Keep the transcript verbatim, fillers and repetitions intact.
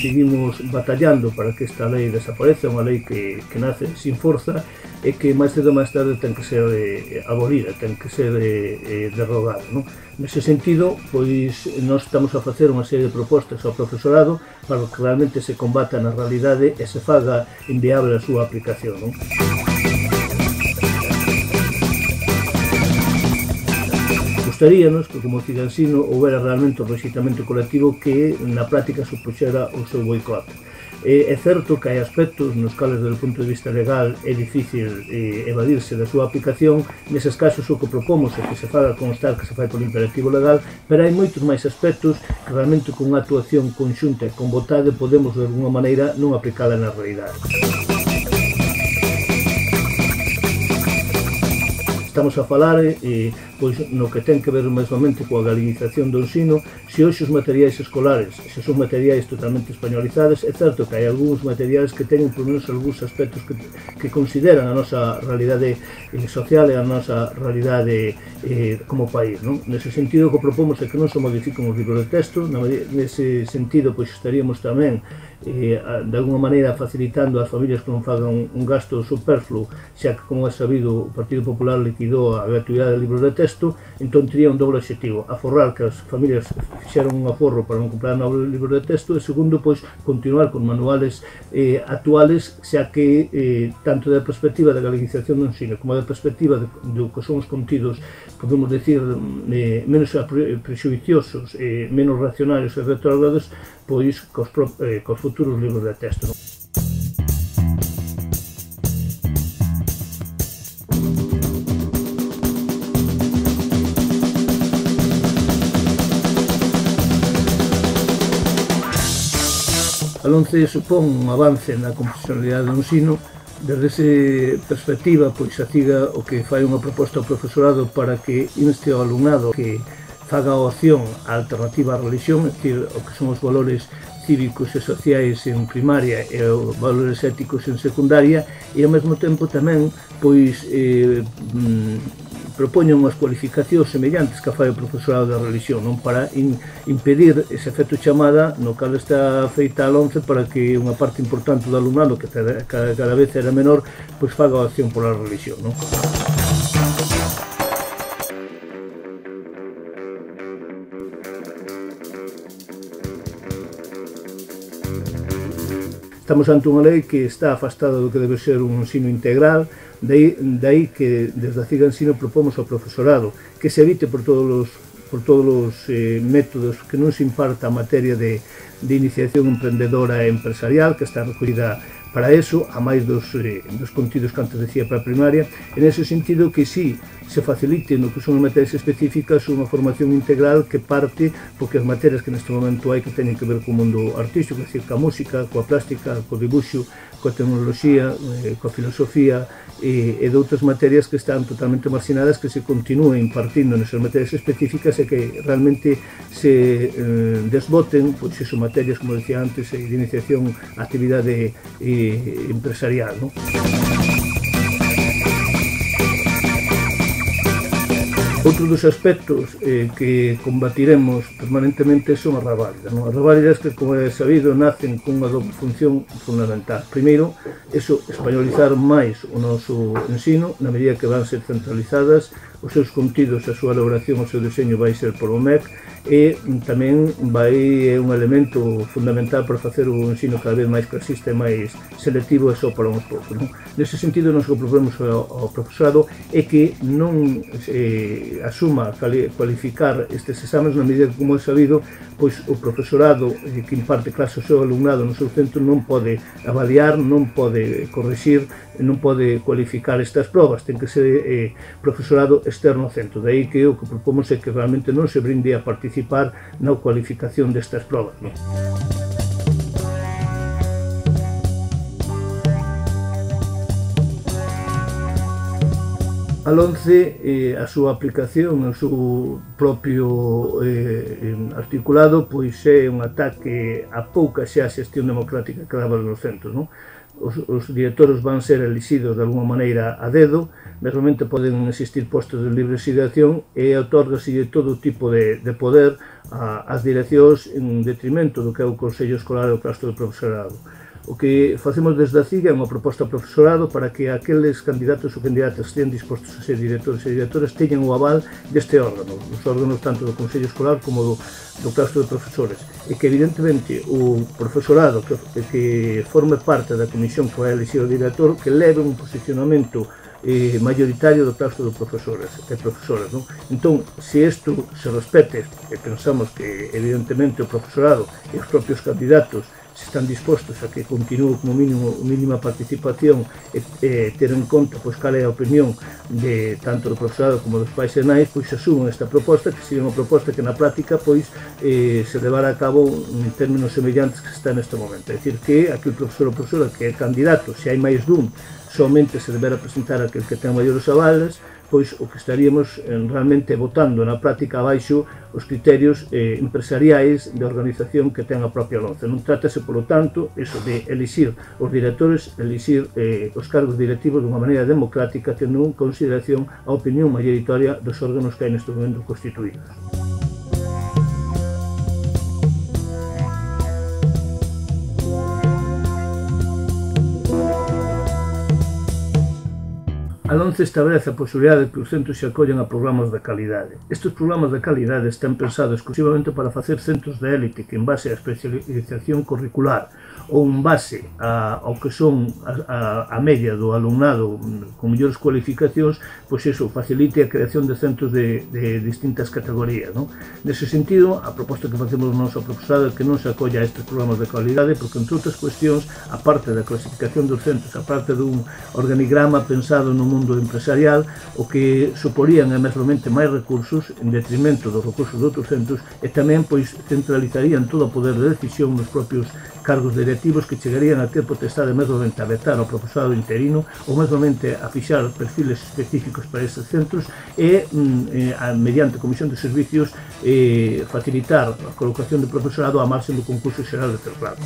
seguimos batallando para que esta lei desapareza, unha lei que, que nace sin forza e que máis cedo máis tarde ten que ser eh, abolida, ten que ser eh, derrogada, non? Nese sentido, pois, nós estamos a facer unha serie de propostas ao profesorado para que realmente se combata na realidade e se faga inviable a súa aplicación, non? Gustaríanos que como Cigansino houbera realmente un rexeitamento colectivo que na práctica supuxera o seu boicot. É certo que hai aspectos nos cales, desde o punto de vista legal, é difícil eh, evadirse da súa aplicación. Neses casos o que propomos é que se faga constar que se fai por imperativo legal, pero hai moitos máis aspectos que realmente con unha actuación conxunta e con vontade podemos de alguma maneira non aplicala na realidade. Estamos a falar eh, pois, no que ten que ver mesmamente coa galinización do ensino. Se hoxe os materiais escolares se son materiais totalmente españolizados, é certo que hai algúns materiais que teñen por menos algúns aspectos que, que consideran a nosa realidade eh, social e a nosa realidade eh, como país, non? Nese sentido, o que propomos é que non se modifiquen os libros de texto. Nese sentido, pois estaríamos tamén eh, de alguma maneira facilitando ás familias que non fagan un gasto superfluo, xa que, como é sabido, o Partido Popular liquidou a gratuidade de libros de texto. Entón tería un doble objetivo: aforrar que as familias fixeran un aforro para non comprar novos libros de texto, e segundo, pois, continuar con manuales eh, actuales, xa que eh, tanto da perspectiva da galinización do ensino como da perspectiva de, do que son os contidos, podemos decir, eh, menos prexuiciosos, eh, menos racionarios e retrógrados, pois cos, eh, cos futuros libros de texto. A LOMCE supón un avance na confesionalidade do ensino. Desde esa perspectiva, pois a CIGA o que fai unha proposta ao profesorado para que inste ao alumnado que faga a opción a alternativa á religión, é dicir, o que son os valores cívicos e sociais en primaria e os valores éticos en secundaria, e ao mesmo tempo tamén pois eh, propoñen unhas cualificacións semellantes que fai o profesorado da religión, non, para in, impedir ese efecto chamada no cal está feita a LOMCE, para que unha parte importante do alumnado, que cada, cada vez era menor, pois faga a opción pola religión, non? Estamos ante unha lei que está afastada do que debe ser un ensino integral, de aí que desde a CIGA Ensino propomos ao profesorado que se evite por todos os, por todos os eh, métodos que non se imparta a materia de, de iniciación emprendedora e empresarial, que está recollida para eso, a máis dos, eh, dos contidos que antes decía para a primaria. En ese sentido, que sí se facilite no que son as materias específicas unha formación integral que parte, porque as materias que neste momento hai que teñen que ver co mundo artístico, é dicir, coa música, coa plástica, co dibuixo, coa tecnoloxía, eh, coa filosofía e, e de outras materias que están totalmente marxinadas, que se continúen impartindo nesas materias específicas e que realmente se eh, desboten, pois iso, materias, como decía antes, de iniciación a actividade eh, empresarial, non? Outro dos aspectos eh, que combatiremos permanentemente son as reválidas, non? As reválidas que, como é sabido, nacen con unha doble función fundamental. Primeiro, eso, españolizar máis o noso ensino, na medida que van ser centralizadas, os seus contidos, a súa elaboración, o seu deseño vai ser por o M E C, e tamén vai é un elemento fundamental para facer o ensino cada vez máis clasista e máis selectivo e só para uns poucos, non? Nese sentido, nós o que proponemos ao, ao profesorado é que non eh, asuma cualificar estes exames, na medida que, como é sabido, pois o profesorado eh, que imparte clase ao seu alumnado no seu centro non pode avaliar, non pode corrixir, non pode cualificar estas probas, ten que ser eh, profesorado externo ao centro. De aí que o que propomos é que realmente non se brinde a participar na cualificación destas probas, non? A LOMCE, eh, a súa aplicación, o seu propio eh, articulado, pois é un ataque a pouca xa xestión democrática que daba nos centros, non? os, os directores van ser elixidos de alguma maneira a dedo, mesmamente poden existir postos de libre asignación e otorgase todo tipo de, de poder a, ás direccións en detrimento do que é o Consello Escolar e o Claustro do Profesorado. O que facemos desde a C I G é unha proposta ao profesorado para que aqueles candidatos ou candidatas que estén dispostos a ser directores e directoras teñan o aval deste órgano, os órganos tanto do Consello Escolar como do, do Claustro de Profesores, e que evidentemente o profesorado que, que forme parte da comisión que vai elixir o director, que leve un posicionamento eh, mayoritario do claustro de profesores e profesoras, non? Entón, se isto se respete, e pensamos que evidentemente o profesorado e os propios candidatos se están dispostos a que continúe como mínimo mínima participación e, e ter en conta pois, cal é a opinión de tanto do profesorado como dos pais e nais, pois asumen esta proposta, que sería unha proposta que na práctica pois, eh, se levará a cabo en términos semellantes que se está neste momento. É dicir, que aquel profesor ou profesora que é candidato, se hai máis dun, somente se deberá presentar aquel que ten maiores avales, pois o que estaríamos eh, realmente votando na práctica abaixo os criterios eh, empresariais de organización que ten a propia LONCE. Non trátase, polo tanto, eso de elixir os directores, elixir eh, os cargos directivos dunha maneira democrática, tendo en consideración a opinión mayoritaria dos órganos que hai neste momento constituídos. A LONCE establece a posibilidade de que os centros se acollan a programas de calidade. Estes programas de calidade están pensados exclusivamente para facer centros de élite que, en base á especialización curricular ou en base a, ao que son a, a, a media do alumnado con mellores cualificacións, pois iso facilite a creación de centros de, de distintas categorías, non? Nese sentido, a proposta que facemos no noso profesorado é que non se acolla a estes programas de calidade, porque, entre outras cuestións, a parte da clasificación dos centros, a parte dun organigrama pensado no mundo empresarial, o que suporían é mesmamente máis recursos en detrimento dos recursos de outros centros, e tamén pois centralizarían todo o poder de decisión nos propios cargos directivos, que chegarían a ter potestade mesmamente a vetar ao profesorado interino ou mesmamente a fixar perfiles específicos para estes centros e, eh, mediante comisión de servicios, eh, facilitar a colocación de profesorado á marxen do concurso xeral de Cerrado.